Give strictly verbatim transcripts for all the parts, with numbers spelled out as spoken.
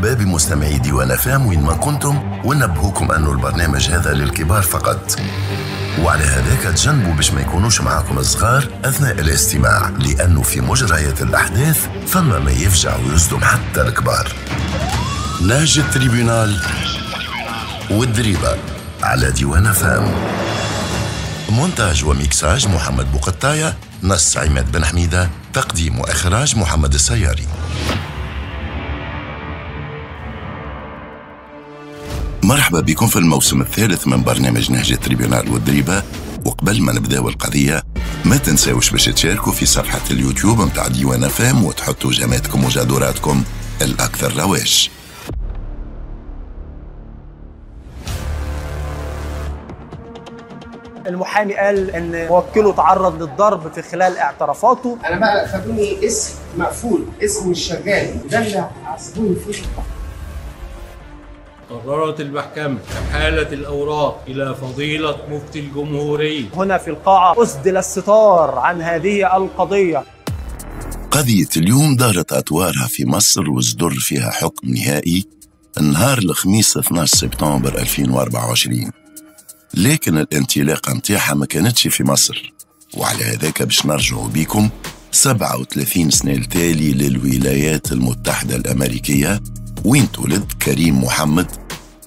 مرحبا بمستمعي ديوان أف أم وين ما كنتم، ونبهوكم أنه البرنامج هذا للكبار فقط، وعلى هذاك تجنبوا باش ما يكونوش معاكم الصغار أثناء الاستماع، لأنه في مجريات الأحداث فما ما يفجع ويصدم حتى الكبار. نهج ال tribunal والدريبة على ديوان أف أم. مونتاج وميكساج محمد بوقطاية، نص عماد بن حميدة، تقديم وإخراج محمد السياري. مرحبا بكم في الموسم الثالث من برنامج نهج ال tribunal والدريبة. وقبل ما نبداو القضية ما تنساوش باش تشاركوا في صفحة اليوتيوب متاع ديوان أف أم وتحطوا جاماتكم وجادوراتكم الأكثر رواج. المحامي قال ان موكله تعرض للضرب في خلال اعترافاته. انا بقى خدوني اسم مقفول، اسم مش شغال، ده اللي عصبوني فيه. قررت المحكمة إحالة الأوراق إلى فضيلة مفتي الجمهورية. هنا في القاعة أسدل الستار عن هذه القضية. قضية اليوم دارت أطوارها في مصر وصدر فيها حكم نهائي نهار الخميس اثنا عشر سبتمبر ألفين وأربعة وعشرين، لكن الانطلاقة متاعها ما كانتش في مصر، وعلى هذاك باش نرجعوا بيكم سبعة وثلاثين سنة التالي للولايات المتحدة الأمريكية، وين تولد كريم محمد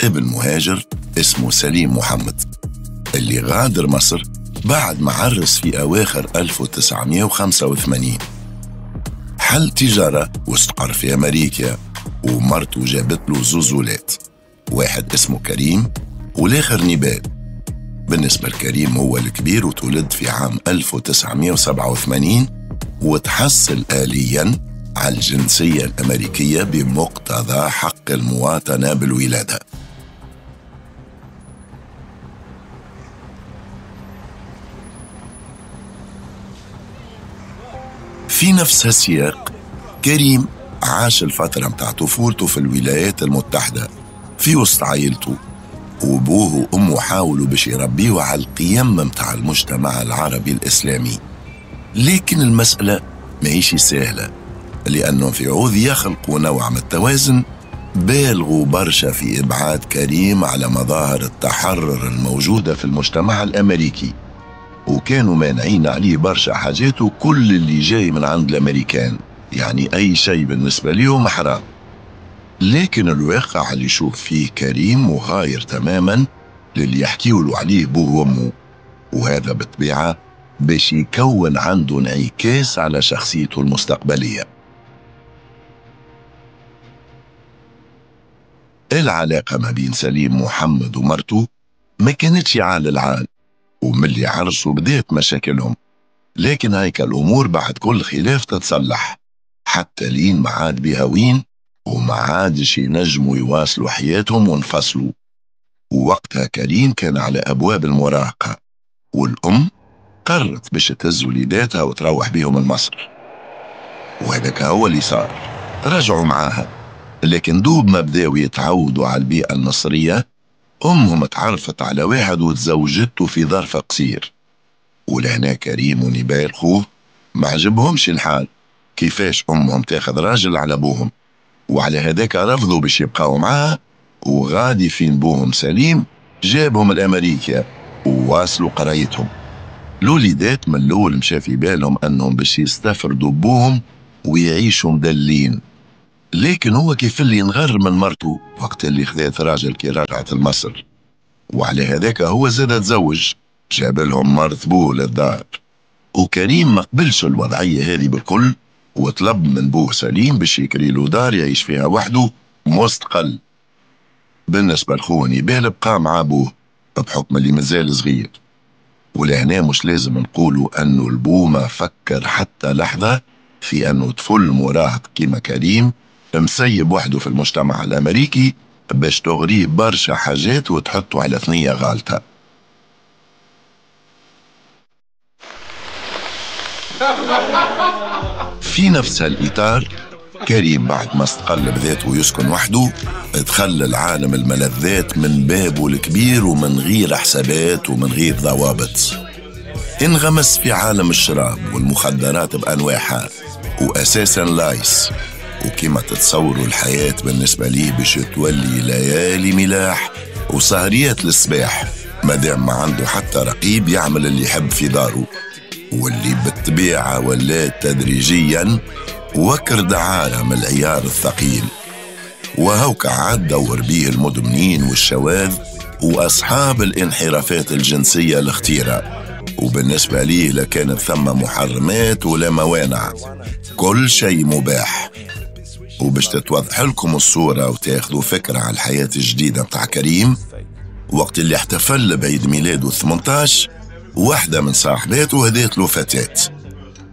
ابن مهاجر اسمه سليم محمد، اللي غادر مصر بعد ما عرس في أواخر ألف وتسعمائة وخمسة وثمانين. حل تجارة واستقر في أمريكا، ومرته جابت له زوز ولاد، واحد اسمه كريم والآخر نبال. بالنسبة لكريم هو الكبير وتولد في عام ألف وتسعمائة وسبعة وثمانين وتحصل آلياً على الجنسية الأمريكية بمقتضى حق المواطنة بالولادة. في نفس السياق كريم عاش الفترة متاع طفولته في الولايات المتحدة في وسط عائلته، وابوه وامه حاولوا باش يربيه على القيم متاع المجتمع العربي الإسلامي، لكن المسألة ماهيش سهلة، لأنهم في عوض يخلقوا نوع من التوازن بالغوا برشا في إبعاد كريم على مظاهر التحرر الموجودة في المجتمع الأمريكي، وكانوا مانعين عليه برشا حاجات وكل اللي جاي من عند الأمريكان، يعني أي شيء بالنسبة ليهم حرام. لكن الواقع اللي يشوف فيه كريم مغاير تماما للي يحكيولوا عليه بوه وأمه، وهذا بالطبيعة باش يكون عنده انعكاس على شخصيته المستقبلية. العلاقة ما بين سليم محمد ومرته ما كانتش عال العال، وملي عرسوا بدأت مشاكلهم، لكن هيك الأمور بعد كل خلاف تتصلح حتى لين ما عاد بها وين، وما عادش ينجموا يواصلوا حياتهم وانفصلوا. ووقتها كريم كان على أبواب المراهقة، والأم قررت باش تهز وليداتها وتروح بيهم لمصر، وهذاك هو اللي صار. رجعوا معاها، لكن دوب ما بداوا يتعودوا على البيئة المصرية أمهم تعرفت على واحد وتزوجته في ظرف قصير. ولهنا كريم ونبال خوه ما عجبهمش الحال كيفاش أمهم تاخذ راجل على أبوهم، وعلى هذاك رفضوا باش يبقاو معاها، وغادي فين بوهم سليم جابهم الأمريكا وواصلوا قرايتهم. الوليدات من الأول مشى في بالهم أنهم باش يستفردوا بوهم ويعيشوا مدلين، لكن هو كيف اللي انغر من مرته وقت اللي خذات راجل كي رجعت لمصر، وعلى هذاك هو زاد تزوج، جاب لهم مرت بوه للدار. وكريم ما قبلش الوضعية هذه بالكل، وطلب من بوه سليم باش يكري له دار يعيش فيها وحده مستقل. بالنسبة لخوه نبال بقى مع بوه بحكم اللي مازال صغير، ولهنا مش لازم نقولوا أنه البو ما فكر حتى لحظة في أنه طفل مراهق كيما كريم مسيب وحده في المجتمع الأمريكي باش تغريه برشا حاجات وتحطه على ثنية غالطة. في نفس الإطار كريم بعد ما استقل بذاته ويسكن وحده دخل العالم الملذات من بابه الكبير ومن غير حسابات ومن غير ضوابط. انغمس في عالم الشراب والمخدرات بأنواعها وأساسا لايس، وكما تتصوروا الحياة بالنسبة ليه باش تولي ليالي ملاح وسهريات للصباح، مادام ما عنده حتى رقيب يعمل اللي يحب في داره، واللي بالطبيعة ولات تدريجيا وكر دعارة من العيار الثقيل. وهوك عاد دور بيه المدمنين والشواذ وأصحاب الانحرافات الجنسية الخطيرة، وبالنسبة ليه لا كانت ثم محرمات ولا موانع، كل شيء مباح. وباش تتوضح لكم الصورة وتاخذوا فكرة على الحياة الجديدة متاع كريم، وقت اللي احتفل بعيد ميلاده ثمانية عشر، واحدة من صاحباته هديت له فتاة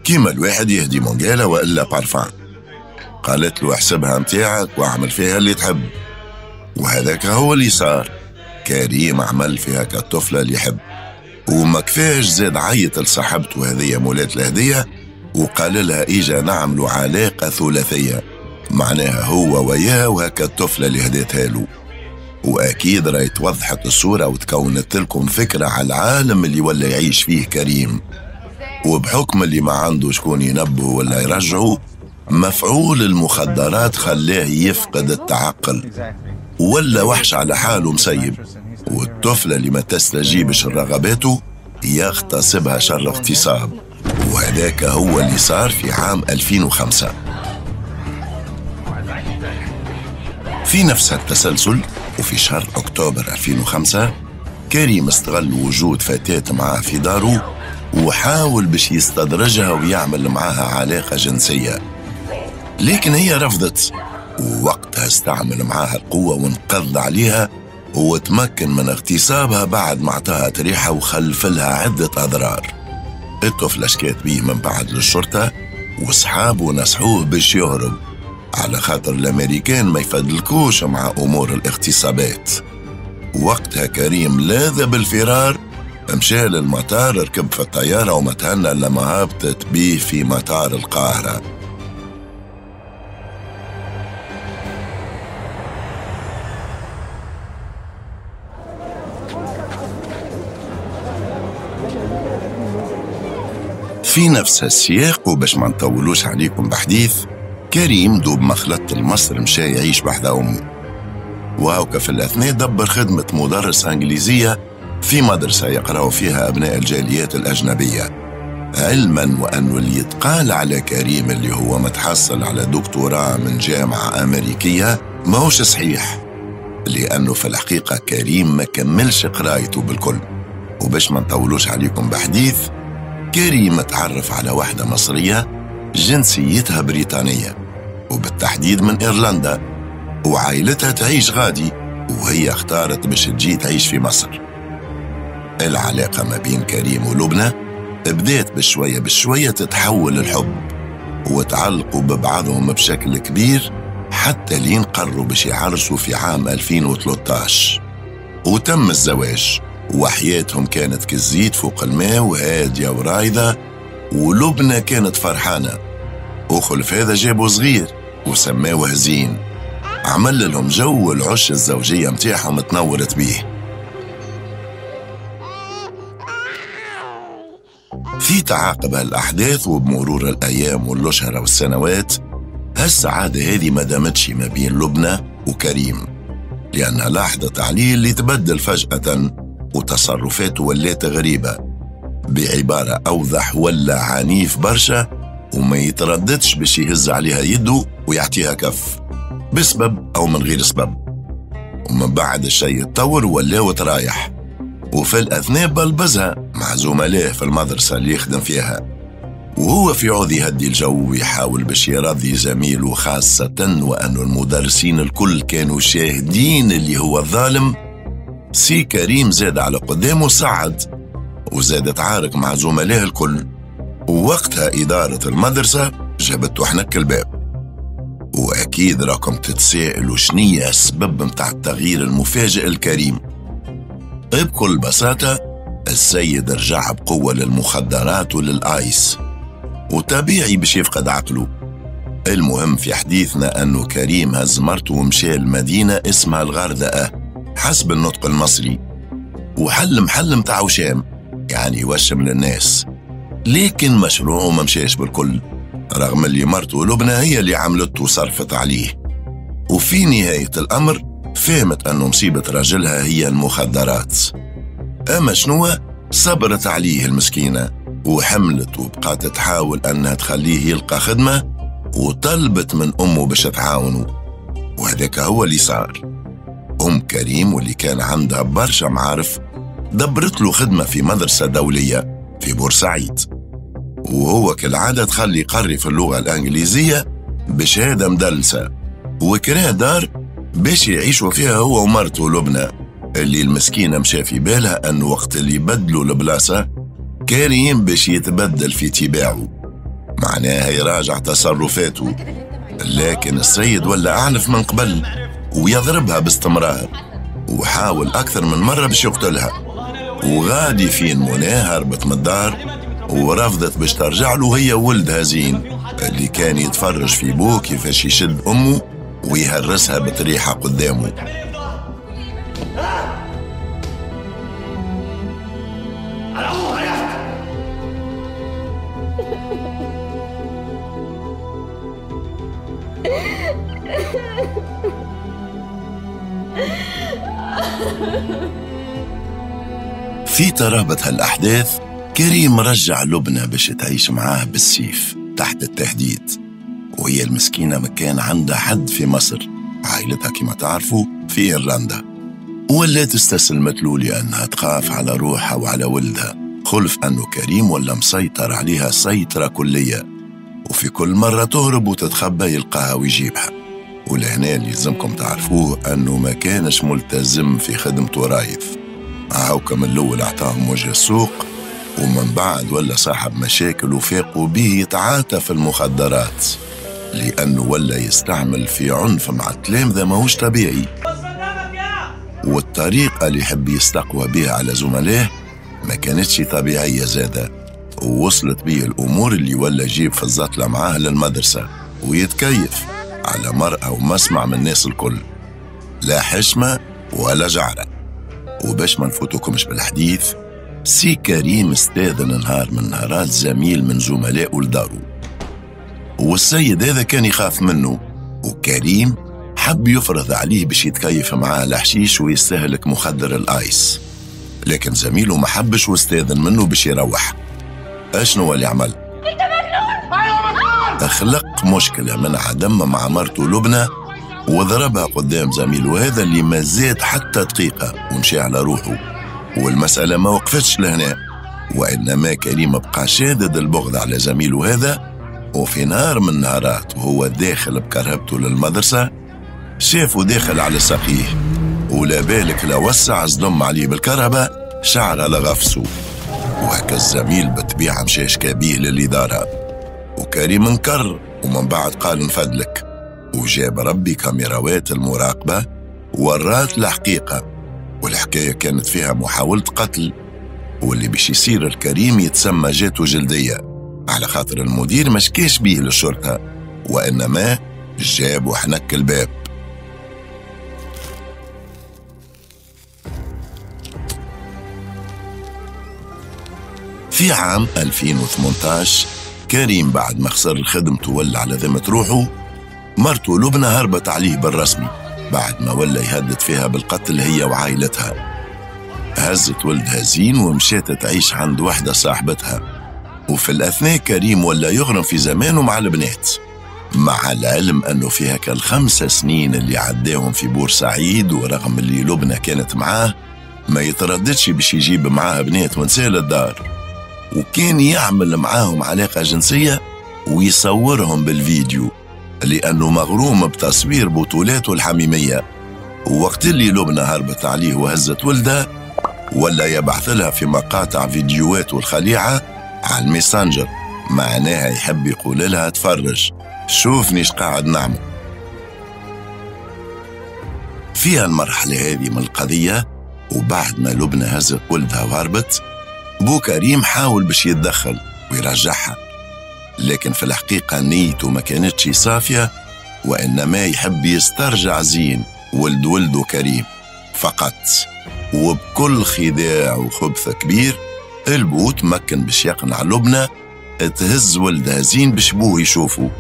كيما الواحد يهدي مونجيلا وإلا بارفان، قالت له احسبها متاعك واعمل فيها اللي تحب، وهذاك هو اللي صار. كريم عمل فيها كالطفلة اللي يحب، وما كفاش زاد عيط لصاحبته هذية مولات الهدية وقال لها إيجا نعملوا علاقة ثلاثية، معناها هو وياها وهكا الطفلة اللي هديتها له. وأكيد راهي توضحت الصورة وتكونت لكم فكرة على العالم اللي ولا يعيش فيه كريم. وبحكم اللي ما عنده شكون ينبهه ولا يرجعه، مفعول المخدرات خلاه يفقد التعقل ولا وحش على حاله مسيب، والطفلة اللي ما تستجيبش لرغباته يغتصبها شر اغتصاب. وهذاك هو اللي صار في عام ألفين وخمسة. في نفس التسلسل وفي شهر أكتوبر ألفين وخمسة، كريم استغل وجود فتاة معاه في داره وحاول باش يستدرجها ويعمل معاها علاقة جنسية، لكن هي رفضت، ووقتها استعمل معاها القوة وانقض عليها وتمكن من اغتصابها بعد ما اعطاها تريحة وخلف لها عدة أضرار. الطفلة شكات بيه من بعد للشرطة، وصحابه نصحوه باش يهرب على خاطر الأمريكان ما يفدلكوش مع أمور الاغتصابات. وقتها كريم لاذ بالفرار، مشى للمطار، ركب في الطيارة وما تهنى لما هبطت بيه في مطار القاهرة. في نفس السياق وباش ما نطولوش عليكم بحديث، كريم دوب ما خلط لمصر مشى يعيش بحذا أمه، وهوكا في الأثناء دبر خدمة مدرس إنجليزية في مدرسة يقرأوا فيها أبناء الجاليات الأجنبية، علما وأنه اللي يتقال على كريم اللي هو متحصل على دكتوراه من جامعة أمريكية ماهوش صحيح، لأنه في الحقيقة كريم ما كملش قرايته بالكل. وباش ما نطولوش عليكم بحديث، كريم تعرف على واحدة مصرية جنسيتها بريطانية وبالتحديد من إيرلندا، وعائلتها تعيش غادي، وهي اختارت باش تجي تعيش في مصر. العلاقة ما بين كريم ولبنى بدأت بشوية بشوية تتحول للحب، وتعلقوا ببعضهم بشكل كبير حتى لين قرروا باش يعرسوا في عام ألفين وثلاثة عشر، وتم الزواج، وحياتهم كانت كالزيت فوق الماء وهادية ورايضة، ولبنى كانت فرحانة. وخلف هذا جابوا صغير وسماوه زين، عمل لهم جو العش الزوجية متاعهم تنورت بيه. في تعاقب هالأحداث وبمرور الأيام والأشهر والسنوات، هالسعادة هذه ما دامتش ما بين لبنى وكريم، لأنها لاحظت عليه اللي تبدل فجأة وتصرفاته ولات غريبة، بعبارة أوضح ولا عنيف برشا، وما يترددش باش يهز عليها يده ويعطيها كف بسبب أو من غير سبب. ومن بعد الشيء اتطور ولا ترايح، وفي الأثناء بلبزها مع زملائه في المدرسة اللي يخدم فيها، وهو في عوض يهدي الجو ويحاول باش يرضي زميله، خاصة وأن المدرسين الكل كانوا شاهدين اللي هو الظالم. سي كريم زاد على قدامه صعد وزاد تعارك مع زملائه الكل، ووقتها إدارة المدرسة جابته حنك الباب. وأكيد راكم تتسائلوا شنية السبب متاع التغيير المفاجئ الكريم. بكل بساطة السيد رجع بقوة للمخدرات وللآيس، وطبيعي باش يفقد عقله. المهم في حديثنا أنه كريم هز مرته ومشى لمدينة اسمها الغردقة حسب النطق المصري، وحل محل متاع وشام، يعني يوشم للناس، لكن مشروعه ما مشاش بالكل، رغم اللي مرته لبنى هي اللي عملته وصرفت عليه. وفي نهاية الأمر فهمت أنه مصيبة راجلها هي المخدرات. أما شنو صبرت عليه المسكينة وحملت وبقات تحاول أنها تخليه يلقى خدمة، وطلبت من أمه باش تعاونه، وهذاك هو اللي صار. أم كريم واللي كان عندها برشا معارف دبرت له خدمة في مدرسة دولية في بورسعيد، وهو كالعادة دخل يقري في اللغة الإنجليزية بشهادة مدلسة، وكراه دار باش يعيشوا فيها هو ومرته لبنى، اللي المسكينة مشى في بالها أنه وقت اللي بدلوا البلاصة كريم باش يتبدل في تباعه، معناها يراجع تصرفاته. لكن السيد ولا أعنف من قبل ويضربها باستمرار، وحاول أكثر من مرة باش يقتلها. وغادي فين منى هربت من الدار ورفضت باش ترجع له هي وولدها زين، اللي كان يتفرج في بوه كيفاش يشد أمه ويهرسها بطريحة قدامه. في ترابط هالأحداث كريم رجع لبنى باش تعيش معاه بالسيف تحت التهديد، وهي المسكينة ما كان عندها حد في مصر، عائلتها كما تعرفوا في إيرلندا، ولات استسلمت له لأنها تخاف على روحها وعلى ولدها، خلف أنه كريم ولا مسيطر عليها سيطرة كلية، وفي كل مرة تهرب وتتخبى يلقاها ويجيبها. ولهنا اللي لازمكم تعرفوه أنه ما كانش ملتزم في خدمته رايث، هاوكا من الأول أعطاهم وجه السوق، ومن بعد ولا صاحب مشاكل وفاقوا به يتعاطى في المخدرات، لأنه ولا يستعمل في عنف مع التلامذة ماهوش طبيعي، والطريقة اللي يحب يستقوى بها على زملائه ما كانتش طبيعية زادة، ووصلت بيه الأمور اللي ولا يجيب في الزطلة معاه للمدرسة ويتكيف على مرأة ومسمع من الناس الكل، لا حشمة ولا جعرة. وباش ما نفوتكمش بالحديث، سي كريم استاذن نهار من نهارات زميل من زملائه لدارو، والسيد هذا كان يخاف منه، وكريم حب يفرض عليه باش يتكيف معاه الحشيش ويستهلك مخدر الايس، لكن زميله ما حبش واستاذن منه باش يروح. اشنو اللي عمل؟ انت مجنون! ايوه مجنون! خلق مشكلة من عدم مع مرته لبنى وضربها قدام زميله هذا اللي ما زاد حتى دقيقة ومشي على روحه. والمسألة ما وقفتش لهنا، وإنما كريم بقى شادد البغض على زميله هذا، وفي نهار من نهارات وهو داخل بكرهبته للمدرسة شافه داخل على ساقيه، ولا بالك لا وسع صدم عليه بالكرهبة شعره لغفسه، وهكا الزميل بالطبيعة مشى شكا بيه للإدارة، وكريم انكر ومن بعد قال نفدلك، وجاب ربي كاميراوات المراقبة ورات الحقيقة، والحكاية كانت فيها محاولة قتل، واللي باش يصير الكريم يتسمى جاته جلدية على خاطر المدير ما شكاش بيه للشرطة، وإنما جاب وحنك الباب. في عام ألفين وثمانية عشر كريم بعد ما خسر خدمته ولا على ذمة روحه، مرته لبنى هربت عليه بالرسمي بعد ما ولا يهدد فيها بالقتل هي وعائلتها. هزت ولدها زين ومشات تعيش عند وحدة صاحبتها، وفي الأثناء كريم ولا يغرم في زمانه مع البنات، مع العلم أنه في هكا الخمس سنين اللي عداهم في بورسعيد ورغم اللي لبنى كانت معاه ما يترددش باش يجيب معاه بنات ونساء للدار، وكان يعمل معاهم علاقة جنسية ويصورهم بالفيديو لأنه مغروم بتصوير بطولاته الحميمية. ووقت اللي لبنى هربت عليه وهزت ولدها ولا يبعث لها في مقاطع فيديوهاته الخليعة على الميسنجر، معناها يحب يقول لها تفرج شوفني اش قاعد نعمل. في المرحلة هذه من القضية وبعد ما لبنى هزت ولدها وهربت، بو كريم حاول باش يتدخل ويرجعها، لكن في الحقيقة نيته ما كانتش صافية، وإنما يحب يسترجع زين ولد ولده كريم فقط. وبكل خداع وخبث كبير البو تمكن باش يقنع لبنى تهز ولدها زين باش بوه يشوفه،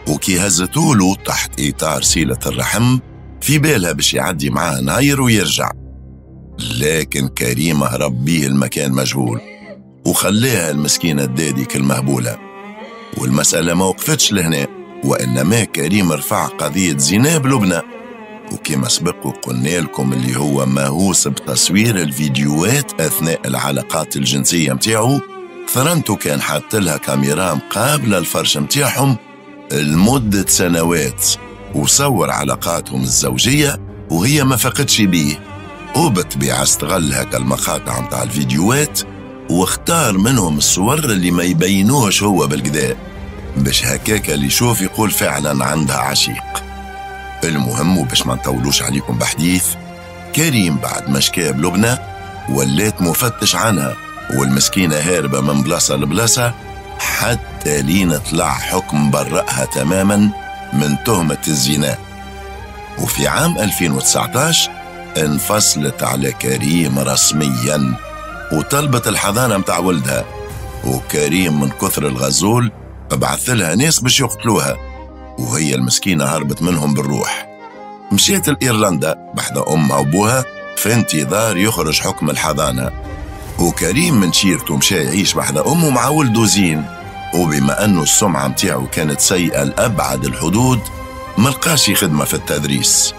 وكي هزتولو تحت إطار صلة الرحم في بالها باش يعدي معاه نهاير ويرجع. لكن كريم هرب بيه المكان مجهول وخليها المسكينة الدادي كالمهبولة. والمسألة ما وقفتش لهنا، وإنما كريم رفع قضية زنا بلبنى، وكما سبق وقلنا لكم اللي هو مهووس بتصوير الفيديوهات أثناء العلاقات الجنسية متاعه. ثرنتو كان حاط لها كاميرا مقابلة الفرش متاعهم لمدة سنوات، وصور علاقاتهم الزوجية وهي ما فقدش بيه، وبالطبيعة استغل هكا المقاطع متاع الفيديوهات واختار منهم الصور اللي ما يبينوهش هو بالكدا، باش هكاك اللي يشوف يقول فعلا عندها عشيق. المهم وباش ما نطولوش عليكم بحديث، كريم بعد ما شكا بلبنى ولات مفتش عنها، والمسكينة هاربة من بلاصة لبلاصة حتى لين طلع حكم برأها تماما من تهمة الزنا. وفي عام ألفين وتسعتاش انفصلت على كريم رسميا وطلبت الحضانة متاع ولدها، وكريم من كثر الغزول بعث لها ناس باش يقتلوها، وهي المسكينة هربت منهم بالروح. مشيت لإيرلندا بحذا أمها وأبوها في انتظار يخرج حكم الحضانة، وكريم من شيرته مشى يعيش بحذا أمه مع ولده زين. وبما أنه السمعة متاعه كانت سيئة لأبعد الحدود ملقاش خدمة في التدريس.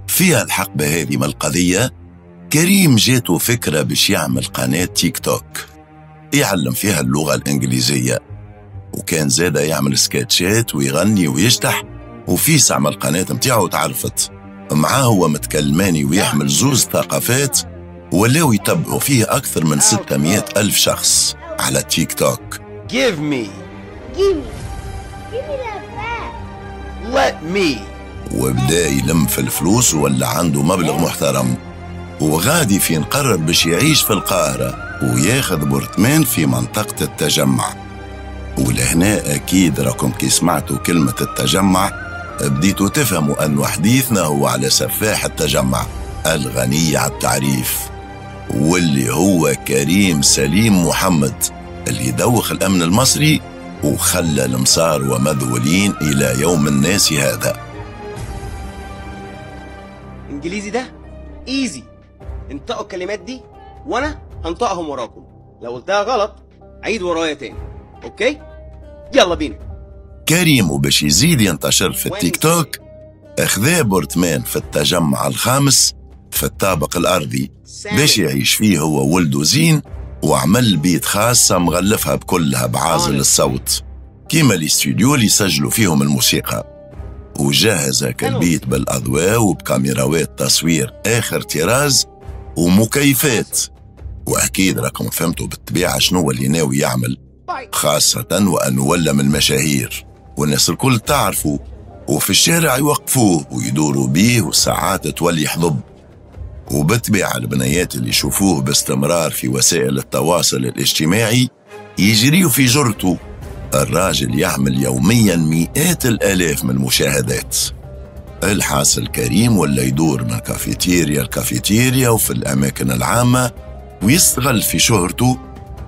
فيها الحقبة هذه من القضية كريم جاته فكرة باش يعمل قناة تيك توك يعلم فيها اللغة الإنجليزية، وكان زادة يعمل سكتشات ويغني ويشتح، وفي عمل قناة متاعه تعرفت معاه هو متكلماني ويحمل زوز ثقافات، ولاو يتبعوا فيه أكثر من ستمية ألف شخص على تيك توك. Give me. Give me. Give me that back. Let me. وبدا يلم في الفلوس ولا عنده مبلغ محترم، وغادي فين قرر باش يعيش في القاهرة وياخذ برطمان في منطقة التجمع. ولهنا أكيد راكم كي سمعتوا كلمة التجمع بديتوا تفهموا أن حديثنا هو على سفاح التجمع الغني على التعريف، واللي هو كريم سليم محمد اللي دوخ الأمن المصري وخلى المصار ومذهولين إلى يوم الناس هذا. انجليزي ده ايزي، انطقوا الكلمات دي وانا هنطقهم وراكم، لو قلتها غلط عيد ورايا تاني، okay؟ يلا بينا. كريم وباش يزيد ينتشر في التيك توك اخذا برطمان في التجمع الخامس في الطابق الارضي باش يعيش فيه هو وولده زين، وعمل بيت خاصة مغلفها بكلها بعازل الصوت كيما الاستوديو اللي يسجلوا فيهم الموسيقى، وجهز هكا البيت بالأضواء وبكاميراوات تصوير آخر طراز ومكيفات. وأكيد راكم فهمتوا بالطبيعة شنو اللي ناوي يعمل، خاصة وأنه ولا من المشاهير والناس الكل تعرفوا، وفي الشارع يوقفوه ويدوروا بيه وساعات تولي حضب. وبالطبيعة البنيات اللي يشوفوه باستمرار في وسائل التواصل الاجتماعي يجريوا في جرته. الراجل يعمل يوميا مئات الآلاف من المشاهدات. الحاصل كريم ولا يدور من كافيتيريا لكافيتيريا وفي الأماكن العامة ويستغل في شهرته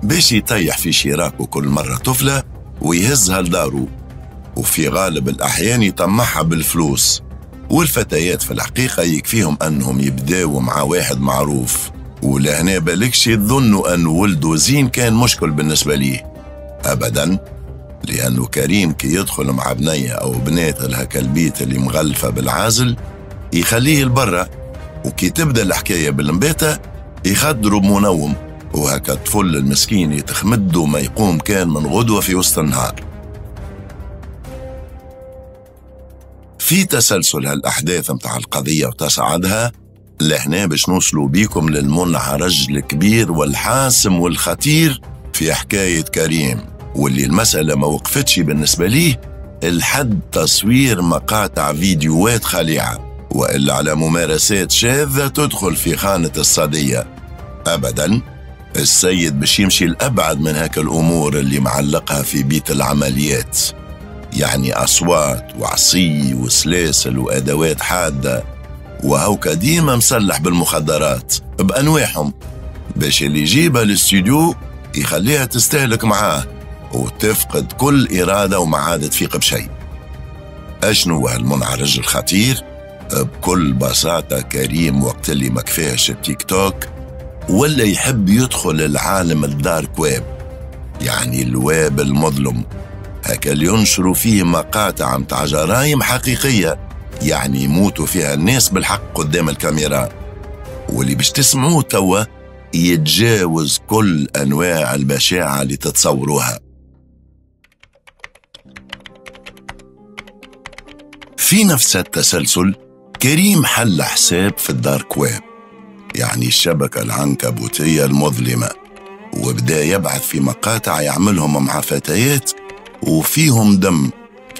باش يطيح في شراكة كل مرة طفلة ويهزها لداره، وفي غالب الأحيان يطمعها بالفلوس. والفتيات في الحقيقة يكفيهم أنهم يبداوا مع واحد معروف، ولهنا بالكش يظنوا أن ولده زين كان مشكل بالنسبة ليه أبداً، لأنه كريم كي يدخل مع بنية أو بنات لهكا البيت اللي مغلفة بالعازل يخليه لبرا، وكي تبدأ الحكاية بالمباتة يخدروا بمنوم، وهكا الطفل المسكين يتخمد وما يقوم كان من غدوة في وسط النهار. في تسلسل هالأحداث متاع القضية وتصاعدها لهنا باش نوصلوا بيكم للمنعرج الكبير والحاسم والخطير في حكاية كريم، واللي المسألة ما وقفتش بالنسبة ليه الحد تصوير مقاطع فيديوهات خليعة وإلا على ممارسات شاذة تدخل في خانة الصدية. أبداً السيد باش يمشي الأبعد من هاك الأمور اللي معلقها في بيت العمليات، يعني أصوات وعصي وسلاسل وأدوات حادة وهوكا ديما مسلح بالمخدرات بأنواعهم باش اللي يجيبها للاستوديو يخليها تستهلك معاه وتفقد كل إرادة وما عاد تفيق بشيء. أشنو هالمنعرج الخطير؟ بكل بساطة كريم وقت اللي ما كفاش التيك توك ولا يحب يدخل العالم ال dark web، يعني الويب المظلم، هكا اللي ينشروا فيه مقاطع متاع جرايم حقيقية، يعني يموتوا فيها الناس بالحق قدام الكاميرا. واللي باش تسمعوه توا يتجاوز كل أنواع البشاعة اللي تتصوروها. في نفس التسلسل كريم حل حساب في ال dark web، يعني الشبكة العنكبوتية المظلمة، وبدأ يبعث في مقاطع يعملهم مع فتيات وفيهم دم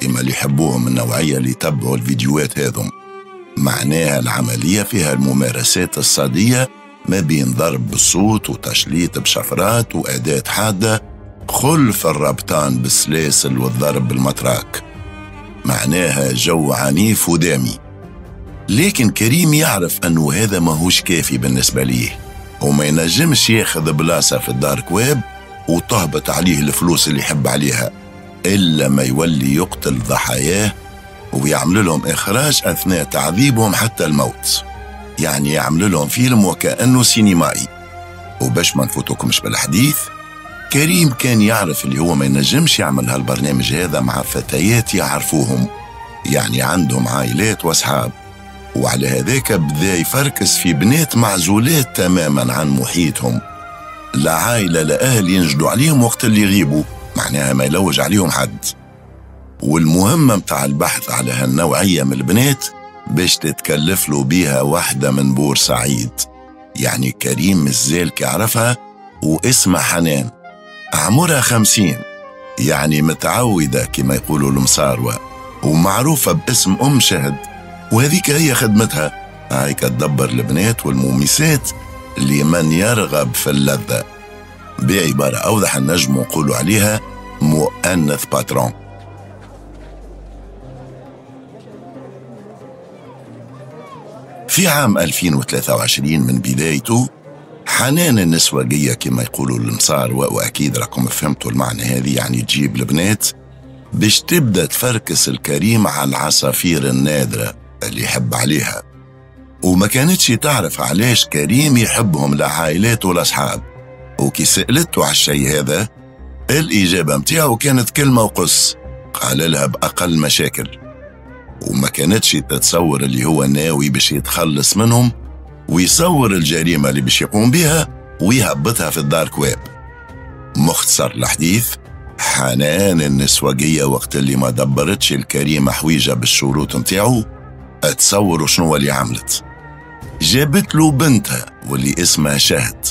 كما اللي يحبوهم النوعية اللي يتبعوا الفيديوهات هذم. معناها العملية فيها الممارسات الصادية ما بين ضرب بالصوت وتشليط بشفرات وأداة حادة، خلف الربطان بالسلاسل والضرب بالمطراك. معناها جو عنيف ودامي. لكن كريم يعرف أنه هذا ماهوش كافي بالنسبة ليه، وما ينجمش ياخذ بلاصة في ال dark web وتهبط عليه الفلوس اللي يحب عليها إلا ما يولي يقتل ضحاياه ويعمل لهم إخراج أثناء تعذيبهم حتى الموت، يعني يعمل لهم فيلم وكأنه سينمائي. وباش ما نفوتكمش بالحديث، كريم كان يعرف اللي هو ما ينجمش يعمل هالبرنامج هذا مع فتيات يعرفوهم، يعني عندهم عائلات وأصحاب، وعلى هذاك بدا يفركس في بنات معزولات تماما عن محيطهم، لا عائلة لا أهل ينجدوا عليهم وقت اللي يغيبوا، معناها ما يلوج عليهم حد. والمهمة متاع البحث على هالنوعية من البنات باش تتكلف له بيها واحدة من بورسعيد، يعني كريم مازال كيعرفها واسمها حنان، عمرها خمسين، يعني متعودة كما يقولوا المصاروة، ومعروفة باسم أم شهد، وهذيك هي خدمتها، هاي تدبر البنات والمومسات لمن يرغب في اللذة. بعبارة أوضح النجم نقولوا عليها مؤنث patron. في عام ألفين وثلاثة وعشرين من بدايته، حنان النسوجية كما يقولوا المصاروة، وأكيد راكم فهمتوا المعنى هذه، يعني تجيب البنات باش تبدأ تفركس الكريم على العصافير النادرة اللي يحب عليها. وما كانتش تعرف علاش كريم يحبهم لعائلاته والأصحاب، وكي سألته على الشيء هذا الإجابة متاعه كانت كلمة وقص، قال لها بأقل مشاكل. وما كانتش تتصور اللي هو ناوي باش يتخلص منهم ويصور الجريمة اللي باش يقوم بها ويهبطها في ال dark web. مختصر الحديث، حنان النسوجية وقت اللي ما دبرتش الكريمة حويجة بالشروط متاعه، تصوروا شنو اللي عملت. جابت له بنتها واللي اسمها شهد،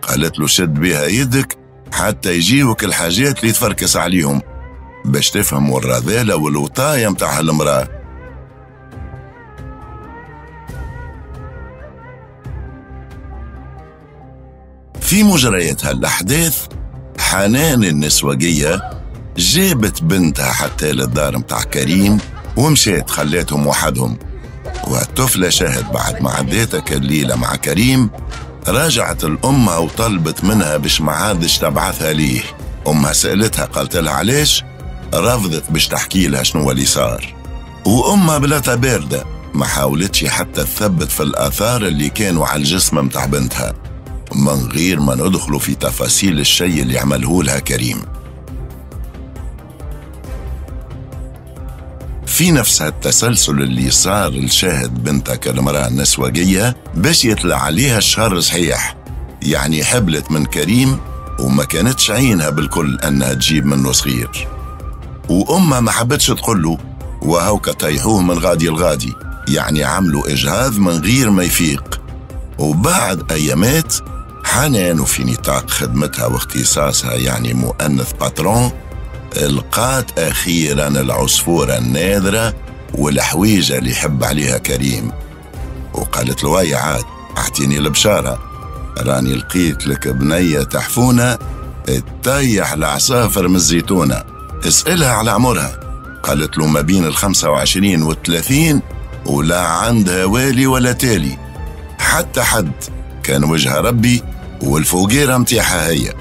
قالت له شد بها يدك حتى يجيوك الحاجات اللي تفركس عليهم باش تفهموا الرذالة والوطاية متاع هالمرأة. في مجريات هالأحداث، حنان النسوجية جابت بنتها حتى للدار متاع كريم ومشيت خلاتهم وحدهم. والطفلة شهد بعد ما عديتك الليلة مع كريم راجعت الأمها وطلبت منها باش ما عادش تبعثها ليه. أمها سألتها قالت لها علاش، رفضت باش تحكي لها شنو اللي صار. وأمها بلاتها باردة ما حاولتش حتى تثبت في الآثار اللي كانوا على الجسم متاع بنتها، من غير ما ندخلوا في تفاصيل الشيء اللي عمله لها كريم. في نفس هالتسلسل اللي صار لشاهد بنتك المرأة النسوجية باش يطلع عليها الشهر صحيح، يعني حبلت من كريم وما كانتش عينها بالكل أنها تجيب منه صغير، وأمها ما حبتش تقوله، وهوكا طيحوه من غادي الغادي، يعني عملوا إجهاض من غير ما يفيق. وبعد أيامات حنان وفي نطاق خدمتها واختصاصها يعني مؤنث patron لقات أخيراً العصفورة النادرة والحويجة اللي يحب عليها كريم، وقالت له يا عاد أعطيني البشارة، راني لقيت لك بنية تحفونة تطيح العصافر من الزيتونة، اسألها على عمرها. قالت له ما بين الخمسة وعشرين والثلاثين، ولا عندها والي ولا تالي، حتى حد كان وجه ربي والفوقيرة متاعها هي.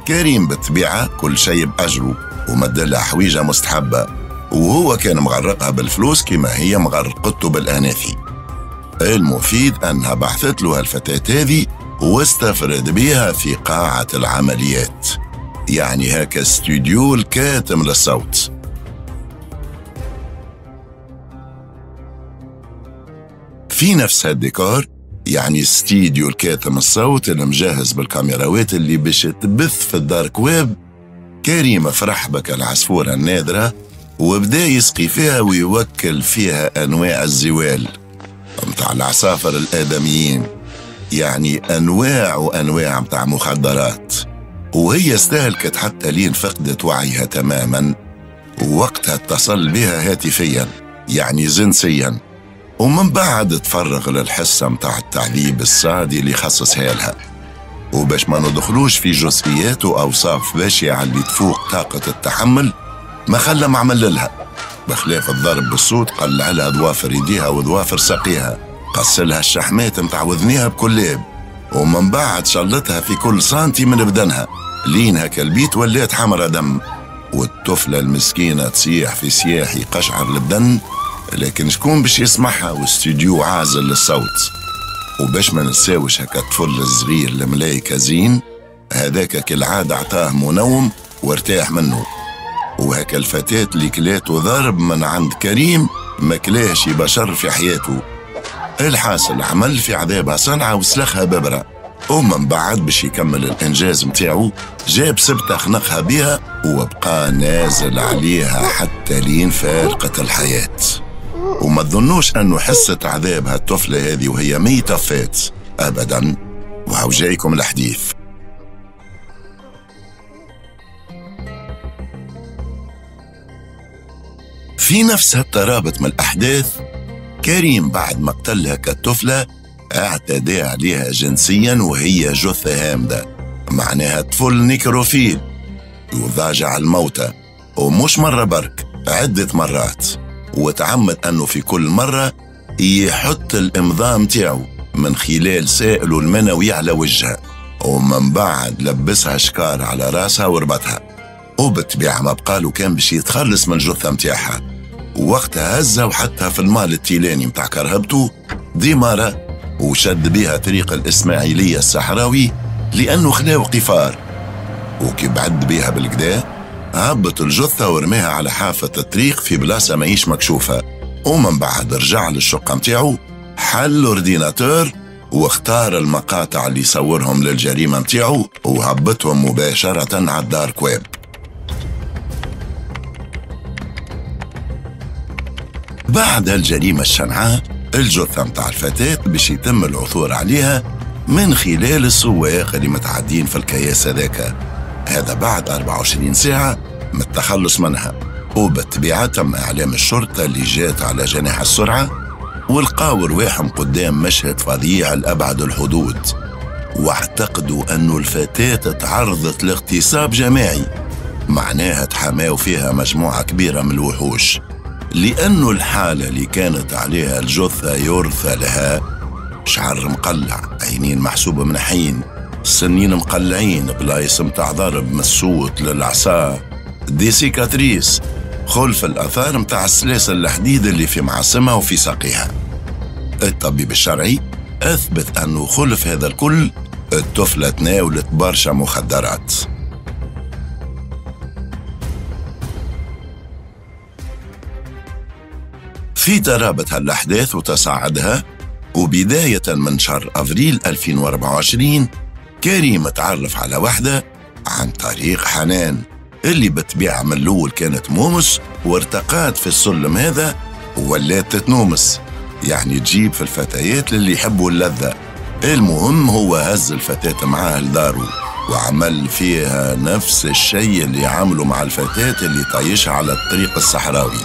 كريم بالطبيعة كل شيء بأجره ومدلها حويجة مستحبة، وهو كان مغرقها بالفلوس كما هي مغرقته بالأناثي. المفيد أنها بعثت له الفتاة هذه واستفرد بها في قاعة العمليات، يعني هكا استوديو الكاتم للصوت. في نفس هالديكور، يعني استديو الكاتم الصوت اللي مجهز بالكاميراوات اللي باش تبث في ال dark web، كريم فرح بك العصفورة النادرة وبدا يسقي فيها ويوكل فيها أنواع الزوال متاع العصافر الآدميين، يعني أنواع وأنواع متاع مخدرات. وهي استهلكت حتى لين فقدت وعيها تماما، ووقتها اتصل بها هاتفيا يعني جنسيا، ومن بعد تفرغ للحصة متاع التعذيب السعدي اللي خصصها لها. وباش ما ندخلوش في جزئيات وأوصاف بشعة اللي تفوق طاقة التحمل، ما خلى ما عمل لها، بخلاف الضرب بالصوت قلع لها ضوافر يديها وضوافر ساقيها، قصلها الشحمات متاع وذنيها بكلاب، ومن بعد شلتها في كل سنتي من بدنها لين هكا البيت ولات حمرة دم، والطفلة المسكينة تصيح في سياح يقشعر البدن، لكن شكون باش يسمعها واستوديو عازل للصوت. وباش ما نساوش هكا الطفل الصغير الملايكة زين هذاك كالعادة عطاه منوم وارتاح منه، وهكا الفتاة اللي كلاته ضرب من عند كريم ما كلاش بشر في حياته. الحاصل عمل في عذابها صنعة وسلخها ببرة، ومن بعد باش يكمل الإنجاز متاعو جاب سبتة خنقها بيها وبقى نازل عليها حتى لين فارقت الحياة. وما تظنوش أنه حست عذابها الطفلة هذه وهي ميتة فات أبدا. وهو جايكم الحديث. في نفس هالترابط من الأحداث، كريم بعد ما قتلها كالطفلة اعتدى عليها جنسيا وهي جثة هامدة، معناها طفل nécrophile يضاجع الموتى، ومش مرة برك، عدة مرات، وتعمد أنه في كل مرة يحط الإمضاء متاعه من خلال سائله المنوي على وجهها، ومن بعد لبسها شكار على راسها وربطها، وبالطبيعة ما بقالو كان باش يتخلص من الجثة متاعها. ووقتها هزها وحطها في المال التيلاني متاع كرهبته ديمارة، وشد بها طريق الإسماعيلية الصحراوي لأنه خلاو قفار. وكي بعد بها بالكدا هبط الجثة ورماها على حافة الطريق في بلاصة ماهيش مكشوفة، ومن بعد رجع للشقة متاعو، حل ordinateur واختار المقاطع اللي صورهم للجريمة متاعو وهبطهم مباشرة على ال dark web. بعد الجريمة الشنعاء الجثة متاع الفتاة باش يتم العثور عليها من خلال السواق اللي متعدين في الكياس هذاك، هذا بعد أربعة وعشرين ساعة من التخلص منها. وبالطبيعة تم إعلام الشرطة اللي جات على جناح السرعة ولقاو رواحهم قدام مشهد فظيع لأبعد الحدود، واعتقدوا أنه الفتاة تعرضت لاغتصاب جماعي، معناها تحماو فيها مجموعة كبيرة من الوحوش، لأنه الحالة اللي كانت عليها الجثة يرثى لها، شعر مقلع، عينين محسوبة من حين، سنين مقلعين، بلايص متاع ضرب من الصوت للعصا، des cicatrices، خلف الأثار متاع السلاسل الحديد اللي في معصمها وفي ساقيها. الطبيب الشرعي أثبت أنه خلف هذا الكل الطفلة تناولت برشا مخدرات. في ترابط هالأحداث وتصاعدها، وبداية من شهر أفريل ألفين وأربعة وعشرين كريم تعرف على وحدة عن طريق حنان اللي بالطبيعة من الأول كانت مومس وارتقات في السلم هذا وولات تتنومس، يعني تجيب في الفتيات للي يحبوا اللذة. المهم هو هز الفتاة معاه لداره وعمل فيها نفس الشيء اللي عمله مع الفتاة اللي طايشها على الطريق الصحراوي،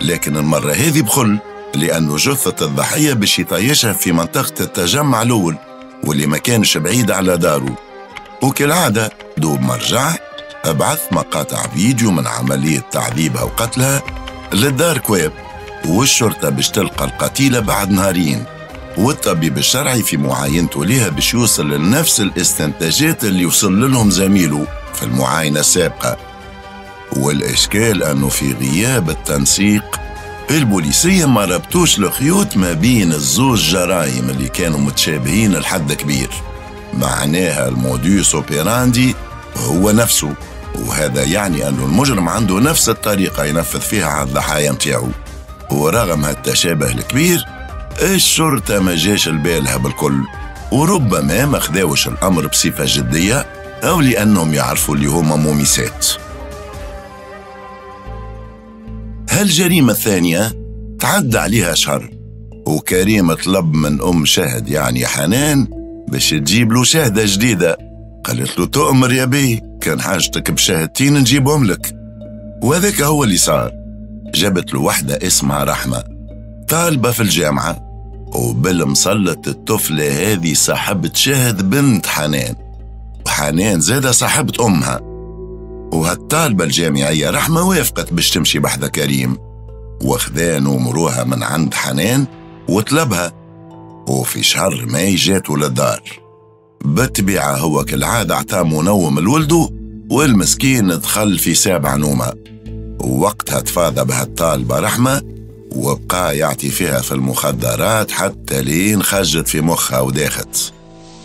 لكن المرة هذه بخل، لأنه جثة الضحية باش يطيشها في منطقة التجمع الأول واللي ما كانش بعيد على داره. وكالعادة دوب ما رجع بعث مقاطع فيديو من عملية تعذيبها وقتلها لل dark web، والشرطة باش تلقى القتيلة بعد نهارين، والطبيب الشرعي في معاينته ليها باش يوصل لنفس الاستنتاجات اللي وصل لهم زميله في المعاينة السابقة. والإشكال أنه في غياب التنسيق البوليسية ما ربطوش الخيوط ما بين الزوج جرائم اللي كانوا متشابهين لحد كبير، معناها ال modus operandi هو نفسه، وهذا يعني أنه المجرم عنده نفس الطريقة ينفذ فيها على الضحايا متاعه. ورغم هالتشابه الكبير الشرطة ما جاش لبالها بالكل، وربما ما خداوش الأمر بصفة جدية أو لأنهم يعرفوا اللي هما مومسات. هالجريمة الثانية تعدى عليها شهر، وكريم طلب من أم شهد يعني حنان باش تجيب له شهدة جديدة. قالت له تؤمر يا بي، كان حاجتك بشهادتين نجيبهم لك. وهذاك هو اللي صار. جابت له وحدة اسمها رحمة، طالبة في الجامعة، وبالمسلط الطفلة هذه صاحبة شهد بنت حنان، وحنان زادة صاحبة أمها. وهالطالبة الجامعية رحمة وافقت باش تمشي بحذا كريم، وخذا نمروها من عند حنان وطلبها، وفي شهر ماي جاتو للدار. بالطبيعة هو كالعادة عطاه منوم لولده، والمسكين دخل في سابع نومة. ووقتها تفاضى بهالطالبة رحمة وبقى يعطي فيها في المخدرات حتى لين خجت في مخها وداخت،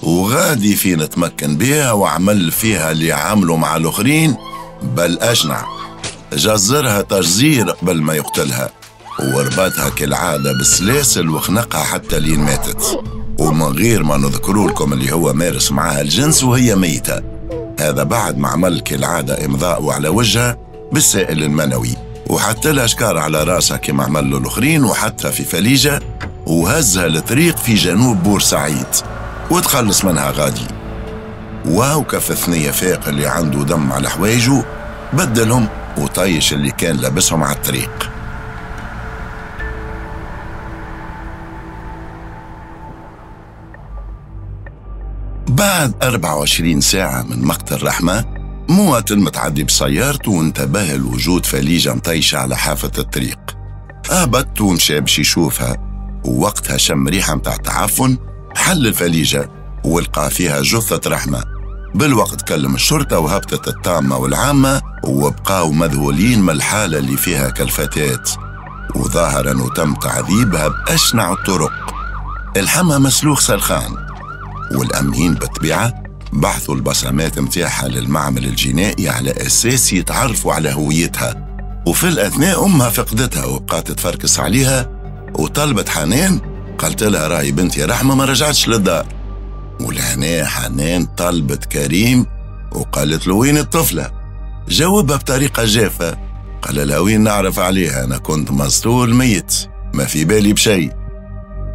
وغادي فين تمكن بيها وعمل فيها اللي عملوا مع الآخرين، بل أشنع، جزرها تجزير قبل ما يقتلها، وربطها كالعادة بالسلاسل وخنقها حتى لين ماتت، ومن غير ما نذكروا لكم اللي هو مارس معاها الجنس وهي ميتة. هذا بعد ما عمل كالعادة إمضاء على وجهها بالسائل المنوي، وحتى لها شكار على راسها كما عمل له الآخرين، وحطها في فليجة وهزها لطريق في جنوب بورسعيد وتخلص منها غادي. وهو كف ثنية فاق اللي عنده دم على حوايجه بدلهم وطيش اللي كان لابسهم على الطريق. بعد أربعة وعشرين ساعة من مقتل رحمة، مواطن متعدي بسيارته وانتبه لوجود فليجة مطيشة على حافة الطريق. هبط ومشى باش يشوفها، ووقتها شم ريحة متاع تعفن، حل الفليجة ولقى فيها جثة رحمة. بالوقت كلم الشرطة وهبطت الطامة والعامة، وبقاو مذهولين من الحالة اللي فيها كالفتاة، وظاهر أنه تم تعذيبها بأشنع الطرق. الحمى مسلوخ سلخان، والأمنيين بالطبيعة بعثوا البصمات متاعها للمعمل الجنائي على أساس يتعرفوا على هويتها. وفي الأثناء أمها فقدتها وبقات تفركس عليها، وطلبت حنان، قالت لها راهي بنتي رحمة ما رجعتش للدار. ولهنا حنان طلبت كريم وقالت له وين الطفلة؟ جاوبها بطريقة جافة، قال لها وين نعرف عليها، أنا كنت مسطول ميت ما في بالي بشيء.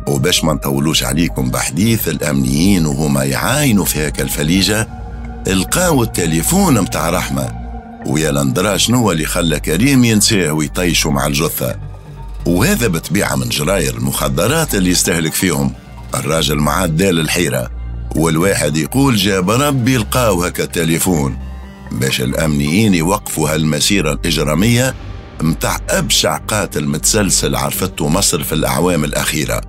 وباش ما نطولوش عليكم بحديث الأمنيين وهما يعاينوا في هاك الفليجة، لقاو التليفون متاع رحمة، ويا لندرا شنو اللي خلى كريم ينساه ويطيشوا مع الجثة. وهذا بطبيعة من جراير المخدرات اللي يستهلك فيهم الراجل مع دال الحيرة، والواحد يقول جاب ربي لقاو هكا التليفون باش الأمنيين يوقفوا هالمسيرة الإجرامية متاع أبشع قاتل متسلسل عرفته مصر في الأعوام الأخيرة.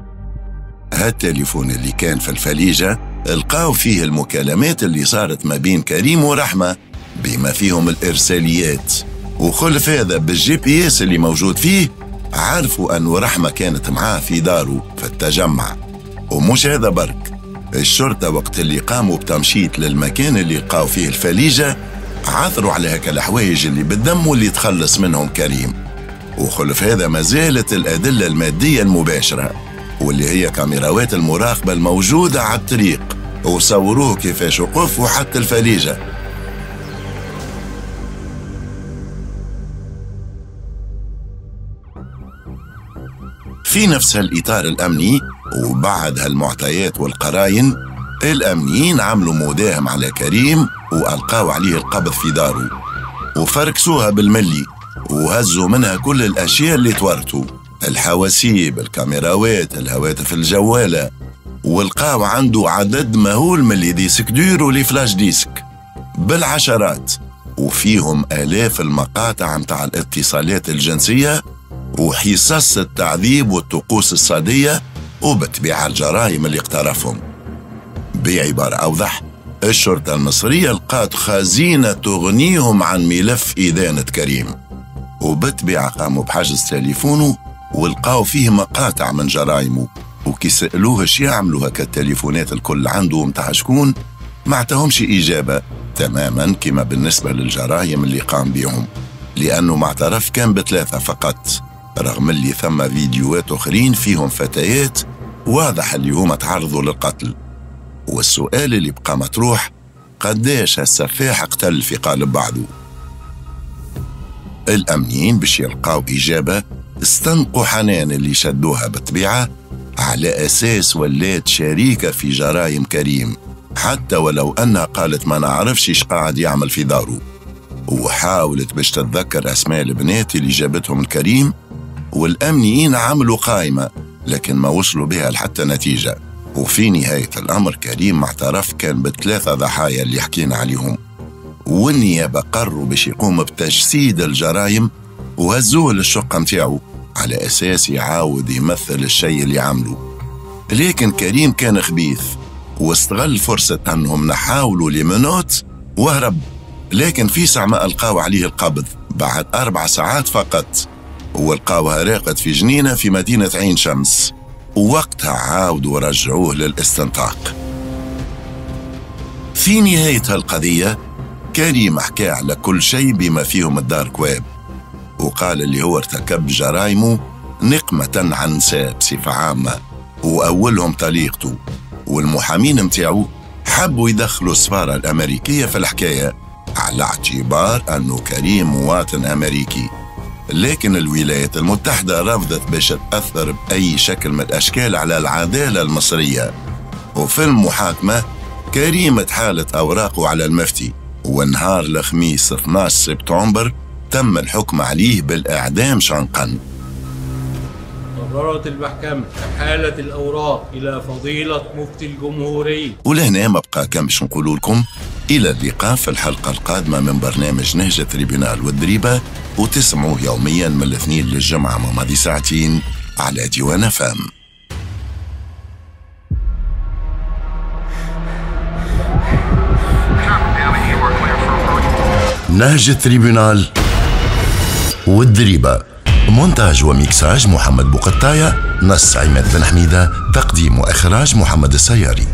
هالتليفون اللي كان في الفليجة لقاو فيه المكالمات اللي صارت ما بين كريم ورحمة بما فيهم الإرساليات، وخلف هذا بال GPS اللي موجود فيه عرفوا أن رحمة كانت معاه في داره في التجمع. ومش هذا برك، الشرطة وقت اللي قاموا بتمشيط للمكان اللي لقاو فيه الفليجة عثروا على هكا الحوايج اللي بالدم واللي تخلص منهم كريم. وخلف هذا ما زالت الأدلة المادية المباشرة واللي هي كاميراوات المراقبة الموجودة على الطريق، وصوروه كيفاش وقف وحتى الفليجة. في نفس هالإطار الأمني وبعد هالمعطيات والقراين، الأمنيين عملوا مداهم على كريم وألقاو عليه القبض في داره، وفركسوها بالملي وهزوا منها كل الأشياء اللي تورتوا، الحواسيب، الكاميراوات، الهواتف الجوالة، ولقاو عنده عدد مهول من les disques durs و les flash disques بالعشرات، وفيهم آلاف المقاطع متاع الاتصالات الجنسية وحصص التعذيب والطقوس الصادية وبالطبيعة الجرائم اللي اقترفهم. بعبارة أوضح، الشرطة المصرية لقات خزينة تغنيهم عن ملف إدانة كريم، وبالطبيعة قاموا بحجز تليفونه ولقاو فيه مقاطع من جرائمه، وكي سألوه اش يعملوا هكا التليفونات الكل عنده متاع شكون، ما عطاهمش إجابة، تماما كما بالنسبة للجرائم اللي قام بهم، لأنه ما اعترف كان بثلاثة فقط، رغم اللي ثم فيديوهات أخرين فيهم فتيات واضح اللي هما تعرضوا للقتل. والسؤال اللي بقى مطروح، قداش هالسفاح قتل في قالب بعضه؟ الأمنيين باش يلقاو إجابة استنقوا حنان اللي شدوها بالطبيعة على أساس ولات شريكة في جرائم كريم، حتى ولو أنها قالت ما نعرفش إيش قاعد يعمل في داره، وحاولت باش تتذكر أسماء البنات اللي جابتهم الكريم، والأمنيين عملوا قائمة لكن ما وصلوا بها لحتى نتيجة. وفي نهاية الأمر كريم اعترف كان بثلاثة ضحايا اللي حكينا عليهم، والنيابة قرروا باش يقوم بتجسيد الجرائم وهزوه للشقة متاعه على أساس يعاود يمثل الشيء اللي عمله. لكن كريم كان خبيث واستغل فرصة أنهم نحاولوا لمنوت وهرب، لكن في ساعة ما ألقاو عليه القبض بعد أربع ساعات فقط، ولقاوها راقد في جنينة في مدينة عين شمس، ووقتها عاودوا رجعوه للاستنطاق. في نهاية هالقضية كريم حكى على كل شيء بما فيهم الدارك ويب، وقال اللي هو ارتكب جرايمه نقمة عن نساء بصفة عامة، وأولهم طليقته، والمحامين متاعو حبوا يدخلوا السفارة الأمريكية في الحكاية على اعتبار أنه كريم مواطن أمريكي، لكن الولايات المتحدة رفضت باش تأثر بأي شكل من الأشكال على العدالة المصرية. وفي المحاكمة كريم تحالت أوراقه على المفتي، ونهار الخميس اثناش سبتمبر تم الحكم عليه بالإعدام شنقا. قررت المحكمة إحالة الأوراق إلى فضيلة مفتي الجمهورية. ولهنا ما بقى كان باش نقول لكم إلى اللقاء في الحلقة القادمة من برنامج نهج تريبينال والدريبة، وتسمعوه يوميا من الاثنين للجمعة ماضي ساعتين على ديوان فام. نهج تريبينال والدريبة، مونتاج وميكساج محمد بوقطاية، نص عماد بن حميدة، تقديم وإخراج محمد السياري.